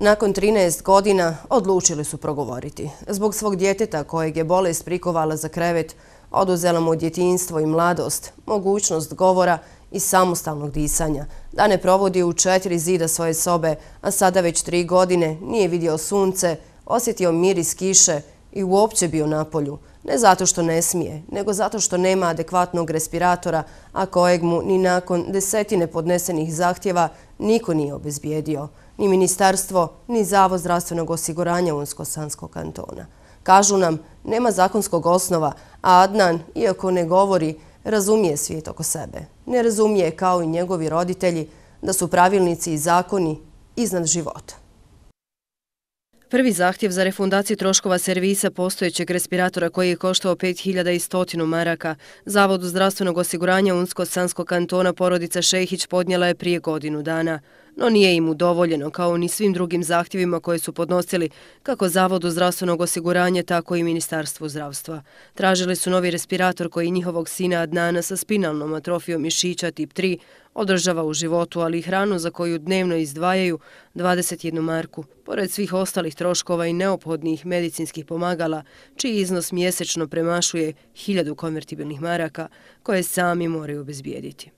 Nakon 13 godina odlučili su progovoriti. Zbog svog djeteta kojeg je bolest prikovala za krevet, oduzela mu djetinjstvo i mladost, mogućnost govora i samostalnog disanja, da ne provodi u 4 zida svoje sobe, a sada već 3 godine nije vidio sunce, osjetio miris kiše i uopće bio na polju. Ne zato što ne smije, nego zato što nema adekvatnog respiratora, a kojeg mu ni nakon desetine podnesenih zahtjeva niko nije obezbijedio. Ni ministarstvo, ni Zavod zdravstvenog osiguranja Unsko-Sanskog kantona. Kažu nam, nema zakonskog osnova, a Adnan, iako ne govori, razumije svijet oko sebe. Ne razumije, kao i njegovi roditelji, da su pravilnici i zakoni iznad života. Prvi zahtjev za refundaciju troškova servisa postojećeg respiratora koji je koštao 5100 maraka Zavodu zdravstvenog osiguranja Unsko-Sanskog kantona porodica Šehić podnijela je prije godinu dana. No nije im udovoljeno, kao ni svim drugim zahtjevima koje su podnosili kako Zavodu zdravstvenog osiguranja, tako i Ministarstvu zdravstva. Tražili su novi respirator koji njihovog sina Adnana sa spinalnom atrofijom mišića tip 3 održava u životu, ali i hranu za koju dnevno izdvajaju 21 marku, pored svih ostalih troškova i neophodnih medicinskih pomagala, čiji iznos mjesečno premašuje 1000 konvertibilnih maraka koje sami moraju obezbijediti.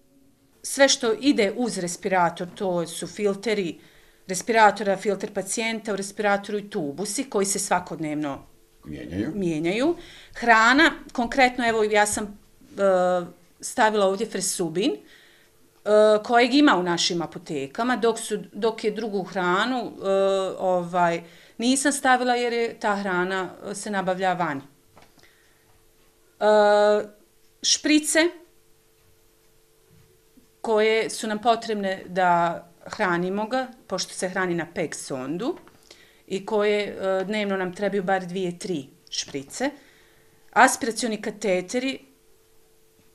Sve što ide uz respirator, to su filteri respiratora, filter pacijenta u respiratoru i tubusi koji se svakodnevno mijenjaju. Hrana, konkretno, evo ja sam stavila ovdje Fresubin, kojeg ima u našim apotekama, dok je drugu hranu nisam stavila jer je ta hrana se nabavlja vani. Šprice koje su nam potrebne da hranimo ga, pošto se hrani na PEG sondu i koje dnevno nam trebaju bar 2-3 šprice. Aspiracioni kateteri,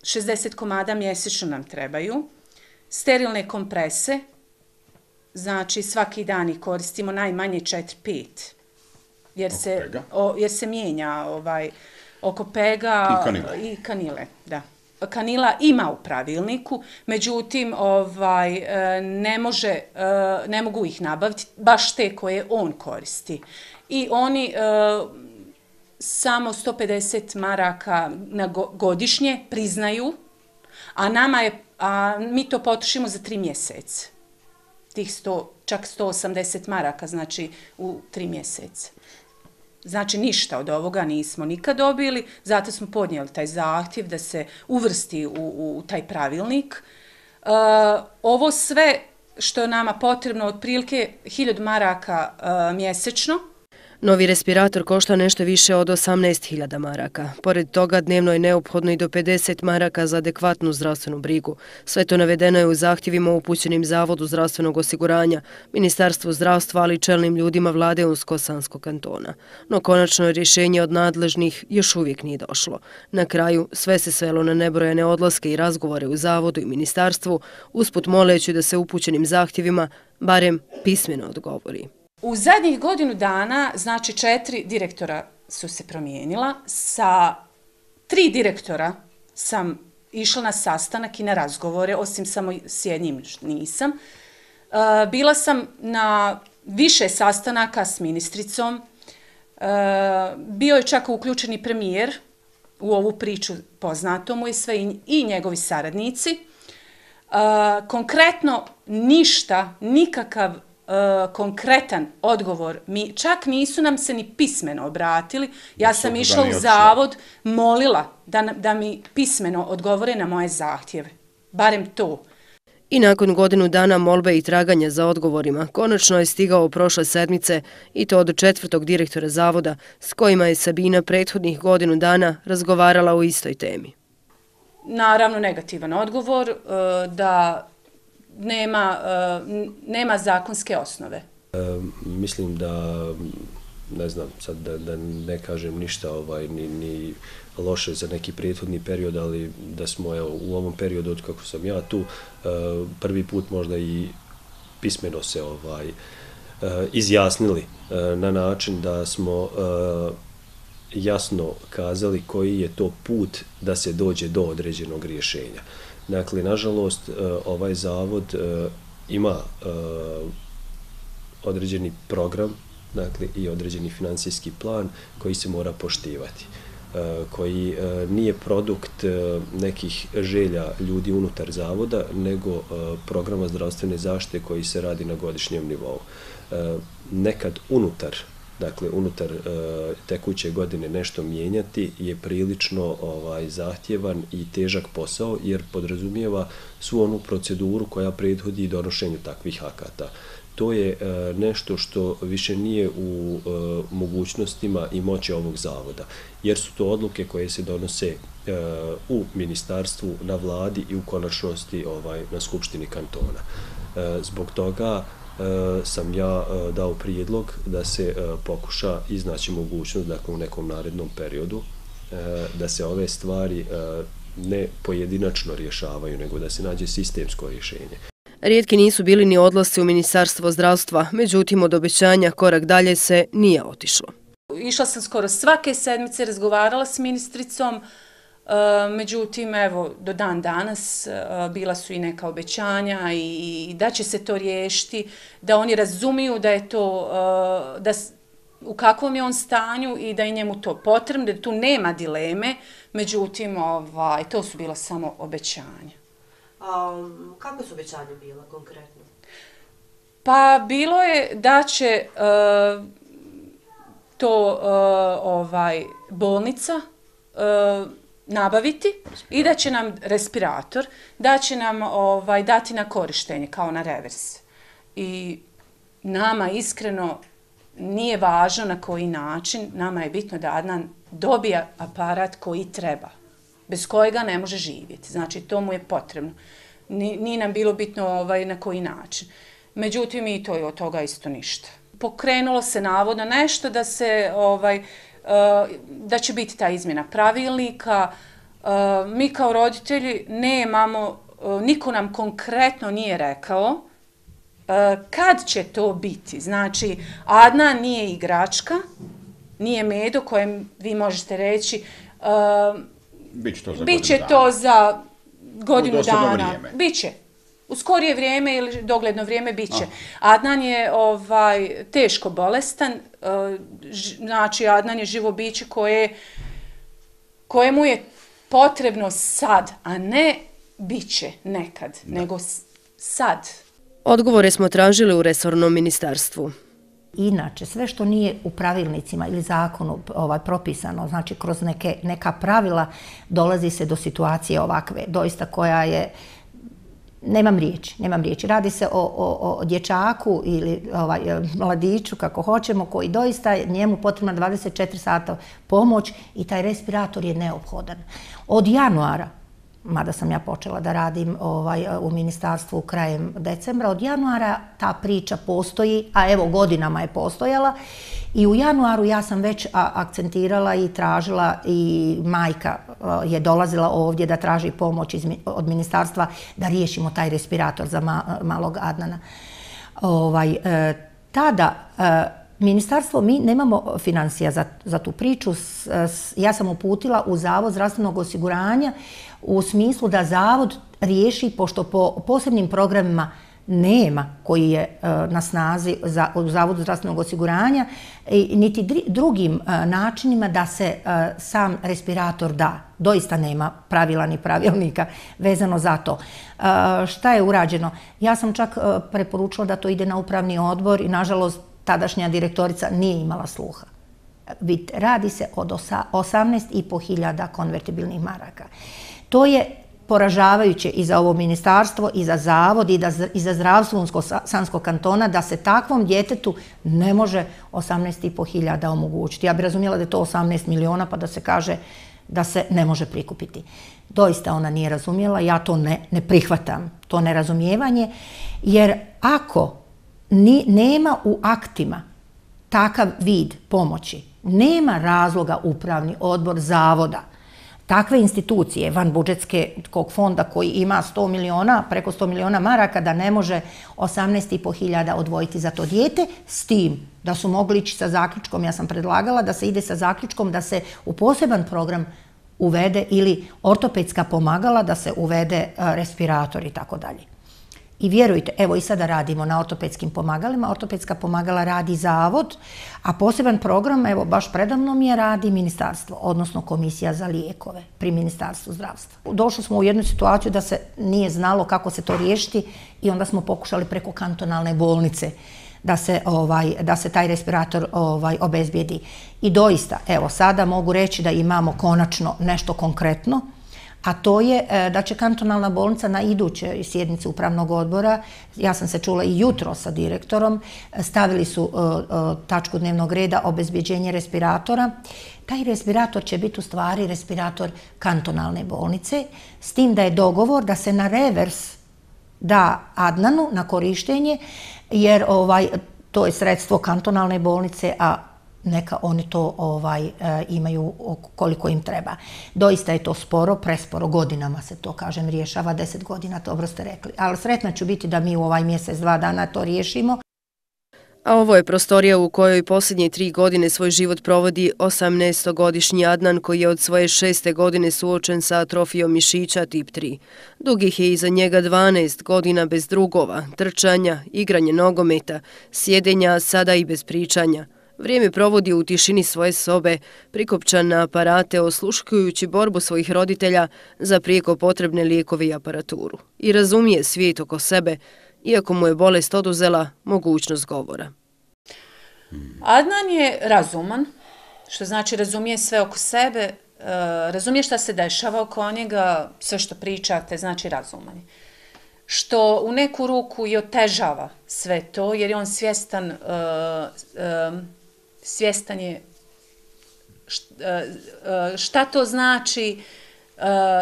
60 komada mjesečno nam trebaju. Sterilne komprese, znači svaki dan ih koristimo najmanje 4-5, jer se mijenja oko PEG-a i kanile. Da. Kanila ima u pravilniku, međutim ne mogu ih nabaviti, baš te koje on koristi. I oni samo 150 maraka godišnje priznaju, a mi to potrošimo za 3 mjeseca. Tih čak 180 maraka, znači u 3 mjeseca. Znači ništa od ovoga nismo nikad dobili, zato smo podnijeli taj zahtjev da se uvrsti u taj pravilnik. Ovo sve što je nama potrebno, otprilike 1000 maraka mjesečno. Novi respirator košta nešto više od 18.000 maraka. Pored toga dnevno je neophodno i do 50 maraka za adekvatnu zdravstvenu brigu. Sve to navedeno je u zahtjevima upućenim Zavodu zdravstvenog osiguranja, Ministarstvu zdravstva, ali i čelnim ljudima vlade Unsko-Sanskog kantona. No konačno rješenje od nadležnih još uvijek nije došlo. Na kraju sve se svelo na nebrojene odlaske i razgovore u Zavodu i Ministarstvu, usput moleći da se upućenim zahtjevima barem pismeno odgovori. U zadnjih godinu dana, znači 4 direktora su se promijenila. Sa 3 direktora sam išla na sastanak i na razgovore, osim samo s jednim nisam. Bila sam na više sastanaka s ministricom. Bio je čak uključen i premijer u ovu priču, poznato mu je sve, i njegovi saradnici. Konkretno ništa, nikakav konkretan odgovor, čak nisu nam se ni pismeno obratili. Ja sam išla u Zavod, molila da mi pismeno odgovore na moje zahtjeve. Barem to. I nakon godinu dana molbe i traganja za odgovorima, konačno je stigao prošle sedmice, i to od 4. direktora Zavoda, s kojima je Sabina prethodnih godinu dana razgovarala o istoj temi. Naravno, negativan odgovor, da nema zakonske osnove. Mislim da, ne znam, sad da ne kažem ništa ni loše za neki prethodni period, ali da smo u ovom periodu od kako sam ja tu prvi put možda i pismeno se izjasnili na način da smo jasno kazali koji je to put da se dođe do određenog rješenja. Dakle, nažalost, ovaj zavod ima određeni program, dakle i određeni financijski plan koji se mora poštivati, koji nije produkt nekih želja ljudi unutar zavoda, nego programa zdravstvene zaštite koji se radi na godišnjem nivou. Nekad unutar tekuće godine nešto mijenjati je prilično zahtjevan i težak posao, jer podrazumijeva svu onu proceduru koja prethodi donošenju takvih akata. To je nešto što više nije u mogućnostima i moći ovog zavoda, jer su to odluke koje se donose u ministarstvu, na vladi i u konačnosti na Skupštini kantona. Zbog toga sam ja dao prijedlog da se pokuša iznaći mogućnost, dakle u nekom narednom periodu, da se ove stvari ne pojedinačno rješavaju, nego da se nađe sistemsko rješenje. Rijetki nisu bili ni odlasci u Ministarstvo zdravstva, međutim od obećanja korak dalje se nije otišlo. Išla sam skoro svake sedmice, razgovarala s ministricom, međutim, evo, do dan danas bila su i neka obećanja i da će se to riješiti, da oni razumiju da je to, u kakvom je on stanju i da je njemu to potrebno, da tu nema dileme, međutim, to su bila samo obećanja. Kako su obećanja bila konkretno? Pa bilo je da će to bolnica nabaviti i da će nam respirator, da će nam dati na korištenje kao na revers. I nama iskreno nije važno na koji način, nama je bitno da Adnan dobija aparat koji treba, bez kojega ne može živjeti. Znači, to mu je potrebno. Nije nam bilo bitno na koji način. Međutim, i to je od toga isto ništa. Pokrenulo se navodno nešto da se, da će biti ta izmjena pravilnika. Mi kao roditelji nemamo, niko nam konkretno nije rekao kad će to biti. Znači, Adnan nije igračka, nije medo kojem vi možete reći Biće to za godinu dana. Biće. U skorije vrijeme ili dogledno vrijeme biće. Adnan je teško bolestan, znači Adnan je živo biće kojemu je potrebno sad, a ne biće nekad, nego sad. Odgovore smo tražili u resornom ministarstvu. Inače, sve što nije u pravilnicima ili zakonu propisano, znači kroz neka pravila, dolazi se do situacije ovakve, doista koja je, nemam riječi. Radi se o dječaku ili mladiću, kako hoćemo, koji doista njemu potrebna 24 sata pomoć i taj respirator je neophodan. Od januara, mada sam ja počela da radim u ministarstvu krajem decembra, od januara ta priča postoji, a evo godinama je postojala i u januaru ja sam već akcentirala i tražila i majka je dolazila ovdje da traži pomoć od ministarstva da riješimo taj respirator za malog Adnana. Tada ministarstvo, mi nemamo financija za tu priču, ja sam uputila u Zavod zdravstvenog osiguranja u smislu da Zavod riješi, pošto po posebnim programima nema koji je na snazi u Zavodu zdravstvenog osiguranja, niti drugim načinima da se sam respirator da. Doista nema pravila ni pravilnika vezano za to. Šta je urađeno? Ja sam čak preporučila da to ide na upravni odbor i nažalost tadašnja direktorica nije imala sluha. Radi se od 18.500 konvertibilnih maraka. To je poražavajuće i za ovo ministarstvo, i za Zavod, i za zdravstvo Unsko-Sanskog kantona, da se takvom djetetu ne može 18.500 omogućiti. Ja bih razumjela da je to 18 miliona pa da se kaže da se ne može prikupiti. Doista ona nije razumjela, ja to ne prihvatam, to nerazumijevanje, jer ako nema u aktima takav vid pomoći, nema razloga upravni odbor Zavoda, takve institucije vanbudžetskog fonda koji ima 100 miliona, preko 100 miliona maraka, da ne može 18.500 odvojiti za to dijete, s tim da su mogli ići sa zaključkom, ja sam predlagala da se ide sa zaključkom da se u poseban program uvede ili ortopedska pomagala, da se uvede respirator i tako dalje. I vjerujte, evo i sada radimo na ortopedskim pomagalima. Ortopedska pomagala radi zavod, a poseban program, evo baš predamnom je, radi ministarstvo, odnosno komisija za lijekove pri Ministarstvu zdravstva. Došli smo u jednu situaciju da se nije znalo kako se to riješiti i onda smo pokušali preko kantonalne bolnice da se taj respirator obezbijedi. I doista, evo sada mogu reći da imamo konačno nešto konkretno, a to je da će kantonalna bolnica na idućoj sjednici upravnog odbora, ja sam se čula i jutro sa direktorom, stavili su tačku dnevnog reda obezbjeđenje respiratora. Taj respirator će biti u stvari respirator kantonalne bolnice, s tim da je dogovor da se na revers da Adnanu na korištenje, jer to je sredstvo kantonalne bolnice, a neka oni to imaju koliko im treba. Doista je to sporo, presporo, godinama se to, kažem, rješava, 10 godina, dobro ste rekli. Ali sretna ću biti da mi u ovaj mjesec, 2 dana to riješimo. A ovo je prostorija u kojoj posljednje 3 godine svoj život provodi 18-godišnji Adnan, koji je od svoje 6. godine suočen sa atrofijom mišića tip 3. Dugih je iza njega 12 godina bez drugova, trčanja, igranje nogometa, sjedenja, sada i bez pričanja. Vrijeme provodi u tišini svoje sobe, prikopčan na aparate, osluškujući borbu svojih roditelja za prijeko potrebne lijekove i aparaturu. I razumije svijet oko sebe, iako mu je bolest oduzela mogućnost govora. Adnan je razuman, što znači razumije sve oko sebe, razumije šta se dešava oko njega, sve što pričate, znači razuman je. Što u neku ruku i otežava sve to, jer je on svjestan je šta to znači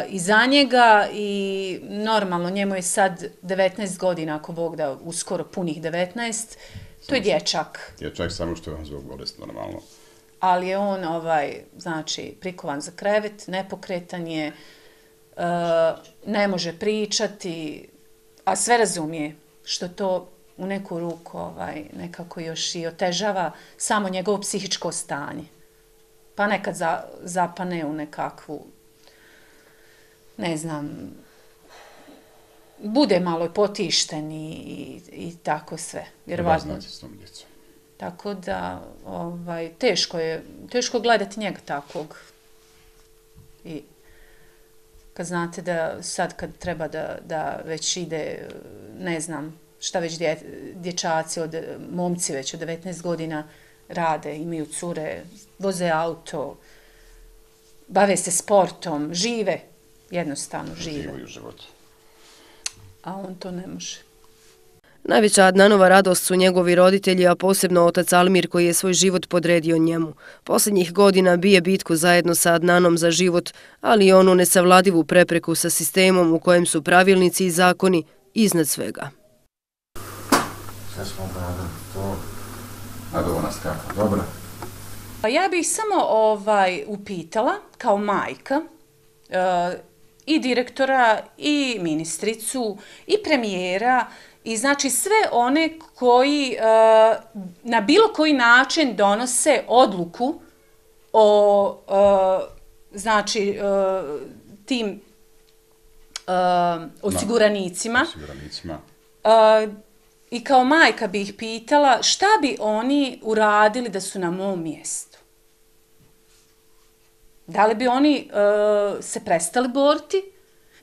i za njega, i normalno, njemu je sad 19 godina, ako Bog da, uskoro punih 19, to je dječak. Dječak, samo što je on zbog bolesti, normalno. Ali je on, znači, prikovan za krevet, nepokretan je, ne može pričati, a sve razumije, što to u neku ruku nekako još i otežava samo njegovo psihičko stanje. Pa nekad zapane u nekakvu, ne znam, bude malo potišten i tako sve. Treba znati s tom djecom. Tako da, teško gledati njega takvog. I kad znate da sad kad treba da već ide, ne znam, šta već dječaci, momci već od 19 godina rade, imaju cure, voze auto, bave se sportom, žive, jednostavno žive. Živaju život. A on to ne može. Najveća Adnanova radost su njegovi roditelji, a posebno otac Almir, koji je svoj život podredio njemu. Posljednjih godina bije bitku zajedno sa Adnanom za život, ali i onu nesavladivu prepreku sa sistemom u kojem su pravilnici i zakoni iznad svega. Sve smo obradili to. Nadovana skaka, dobra. Pa ja bih samo upitala, kao majka, i direktora, i ministricu, i premijera, i znači sve one koji na bilo koji način donose odluku o znači tim osiguranicima. I kao majka bih ih pitala šta bi oni uradili da su na mom mjestu. Da li bi oni se prestali boriti?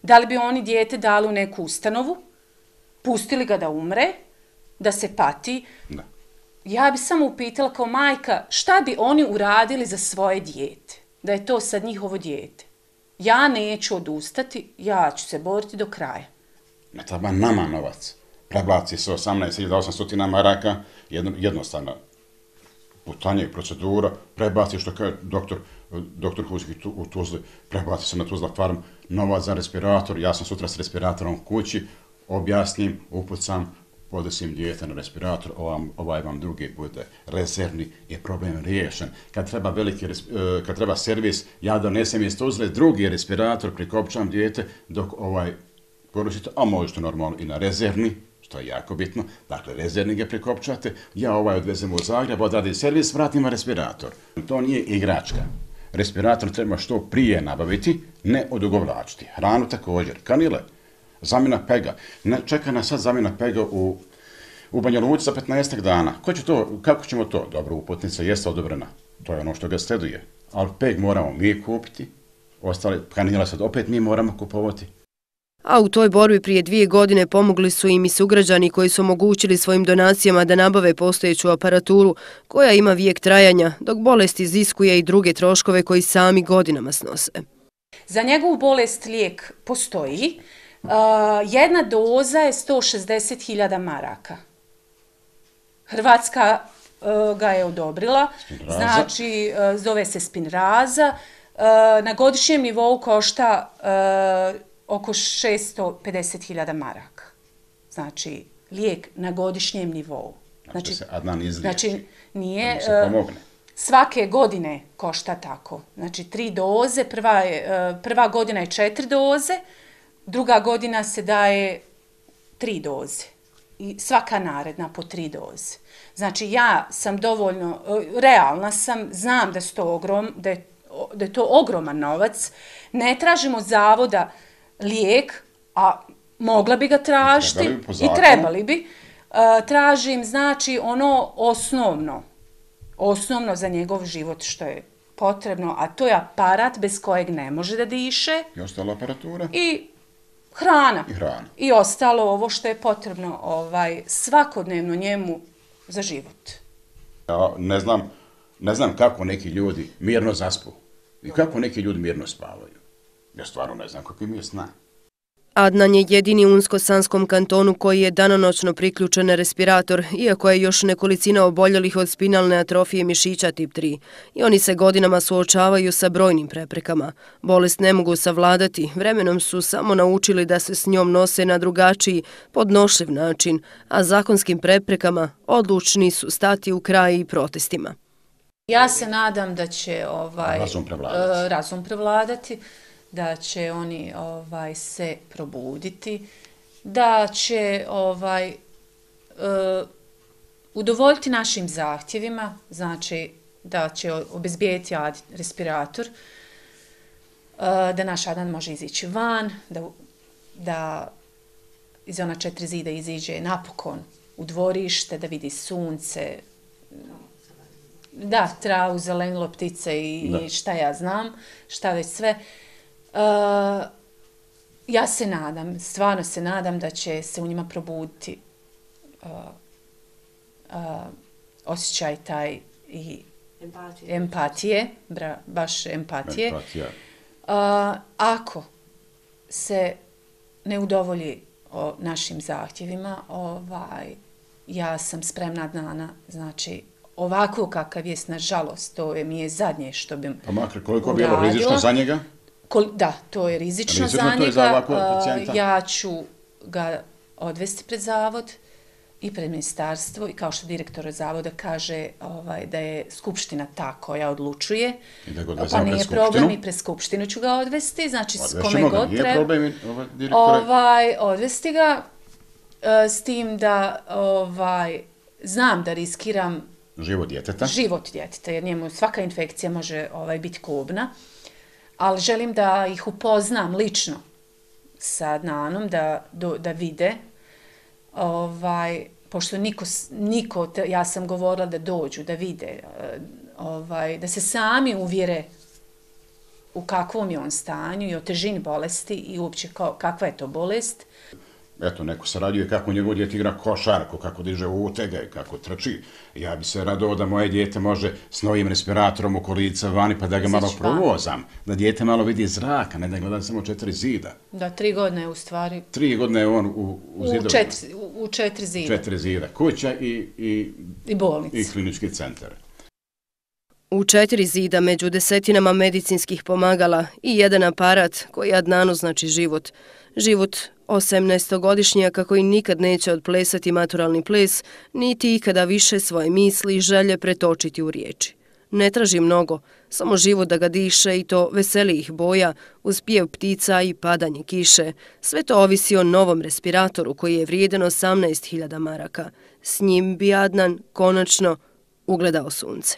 Da li bi oni dijete dali u neku ustanovu? Pustili ga da umre? Da se pati? Da. Ja bi samo upitala kao majka šta bi oni uradili za svoje dijete? Da je to sad njihovo dijete. Ja neću odustati, ja ću se boriti do kraja. Ne treba nama novac. Prebaci se 18.800 maraka, jednostavna putanja i procedura, prebaci, što kaže doktor Huski u Tuzli, prebaci se na Tuzla farm, novac za respirator, ja sam sutra s respiratorom kući, objasnim, upucam, podesim dijete na respirator, ovaj vam drugi bude rezervni, je problem riješen. Kad treba servis, ja donesem iz Tuzle drugi respirator, prikopčam dijete, dok koristite, a možete normalno i na rezervni, što je jako bitno, dakle rezervni ga prikopčate, ja odvezem u Zagreb, odradim servis, vratim respirator. To nije igračka. Respirator treba što prije nabaviti, ne odugovlačiti. Hranu također, kanile. zamjena pega. Čeka nas sad zamjena pega u Banja Luci za 15 dana. Kako ćemo to? Dobro, uputnica jeste odobrena. To je ono što ga sleduje. Ali peg moramo mi kupiti, ostale kanila sad opet mi moramo kupovati. A u toj borbi prije 2 godine pomogli su im i sugrađani koji su omogućili svojim donacijama da nabave postojeću aparaturu koja ima vijek trajanja, dok bolest iziskuje i druge troškove koji sami godinama snose. Za njegovu bolest lijek postoji. Jedna doza je 160.000 maraka. Hrvatska ga je odobrila, znači zove se Spinraza. Na godišnjem nivou košta oko 650.000 maraka. Znači, lijek na godišnjem nivou. Znači se Adnan izliječi. Znači, nije... Da mu se pomogne. Svake godine košta tako. Znači, 3 doze, prva godina je 4 doze, druga godina se daje 3 doze. I svaka naredna po 3 doze. Znači, ja sam dovoljno, realna sam, znam da je to ogroman novac. Ne tražimo zavoda lijek, a mogla bi ga tražiti i trebali bi. Tražim, znači, ono osnovno za njegov život što je potrebno, a to je aparat bez kojeg ne može da diše. I ostala aparatura. I hrana. I ostalo ovo što je potrebno svakodnevno njemu za život. Ja ne znam kako neki ljudi mirno zaspu i kako neki ljudi mirno spavaju. Ja stvarno ne znam kako im je sna. Adnan je jedini u Unsko-Sanskom kantonu koji je danonoćno priključen na respirator, iako je još nekolicina oboljelih od spinalne atrofije mišića tip 3. I oni se godinama suočavaju sa brojnim preprekama. Bolest ne mogu savladati, vremenom su samo naučili da se s njom nose na drugačiji, podnošljiv način, a zakonskim preprekama odlučni su stati u kraj i protestima. Ja se nadam da će razum prevladati, da će oni se probuditi, da će udovoljiti našim zahtjevima, znači da će obezbijeti respirator, da naš Adnan može izići van, da iz ona 4 zida iziđe napokon u dvorište, da vidi sunce, da, travu, zelenilo, ptice i šta ja znam, šta već sve. Ja se nadam, stvarno se nadam da će se u njima probuditi osjećaj taj i empatije, baš empatije. Ako se ne udovolji našim zahtjevima, ja sam spremna Adnana, znači ovako kakav je, nažalost, to mi je zadnje što bih uradila. Pa makar koliko bi bilo rizično za njega? Da, to je rizično za njega. Ja ću ga odvesti pred zavod i pred ministarstvo i kao što direktor zavoda kaže da je skupština ta koja odlučuje. Pa nije problem i pred skupštinu ću ga odvesti, znači s kome god treba. Nije problem, direktore? Odvesti ga s tim da znam da riskiram život djeteta. Život djeteta, jer njemu svaka infekcija može biti kobna. Ali želim da ih upoznam lično sa Adnanom, da vide, pošto niko, ja sam govorila da dođu, da vide, da se sami uvjere u kakvom je on stanju i o težini bolesti i uopće kakva je to bolest. Eto, neko se radio kako njegov djete igra košarku, kako diže utege, kako trči. Ja bi se radao da moje djete može s novim respiratorom u kolica vani pa da ga malo provozam. Da djete malo vidi zraka, ne da gleda samo 4 zida. Da, 3 godine je u stvari. 3 godine je on u zidovima. U 4 zida. 4 zida. Kuća i bolnica. I klinički centar. U 4 zida među desetinama medicinskih pomagala i jedan aparat koji Adnanu znači život. Život 18-godišnjaka koji nikad neće odplesati maturalni ples, niti ikada više svoje misli i želje pretočiti u riječi. Ne traži mnogo, samo život da ga diše i to veselijih boja, uz pjev ptica i padanje kiše. Sve to ovisi o novom respiratoru koji je vrijedan 18.000 maraka. S njim bi Adnan konačno ugledao sunce.